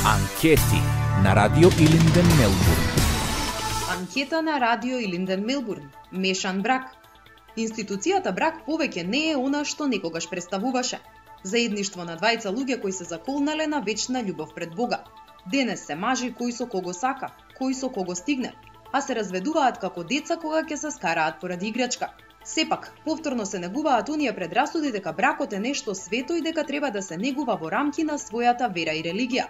Анкети на Радио Илинден Мелбурн. Анкета на Радио Илинден Мелбурн. Мешан брак. Институцијата брак повеќе не е она што некогаш представуваше. Заедништво на двајца луѓе кои се заколнале на вечна љубов пред Бога. Денес се мажи кој со кого сака, кој со кого стигне, а се разведуваат како деца кога ќе се скараат поради играчка. Сепак, повторно се негуваат оние предрасуди дека бракот е нешто свето и дека треба да се негува во рамки на својата вера и религија.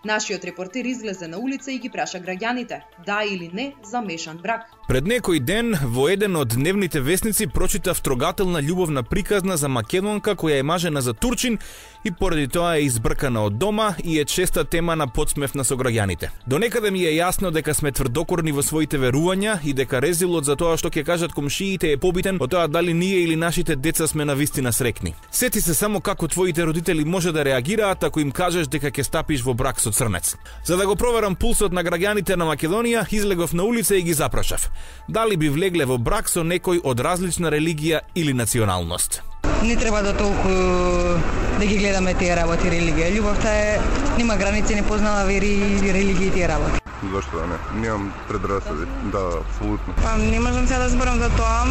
Нашиот репортер излезе на улица и ги праша граѓаните, да или не за мешан брак. Пред некој ден во еден од дневните весници прочитав трогателна љубовна приказна за македонка која е мажена за турчин и поради тоа е избркана од дома и е честа тема на подсмев на сограѓаните. До некаде ми е јасно дека сме тврдокорни во своите верувања и дека резилот за тоа што ќе кажат комшиите е побитен од тоа дали ние или нашите деца сме навистина среќни. Сети се само како твоите родители може да реагираат ако им кажеш дека ќе стапиш во брак со црнец. За да го проверам пулсот на граѓаните на Македонија, излегов на улица и ги запрашав. Дали би влегле во брак со некој од различна религија или националност? Не треба да толку да ги гледаме тие работи религија. Љубовта е нема граници, не познава вери и религија и тие работи. Зашто да не? Немам предрасуди. Да, апсолутно. Па не можам се да зборам за тоа,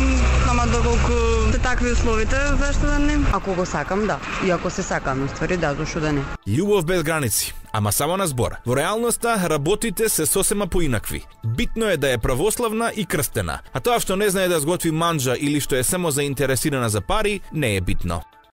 ама доколку се такви условите, зашто да не? Ако го сакам, да. И ако се сакам, ствари да, зашто да не? Љубов без граници, ама само на збор. Во реалноста работите се сосема поинакви. Битно е да е православна и крстена, а тоа што не знае да сготви манџа или што е само заинтересирана за пари, не е битно.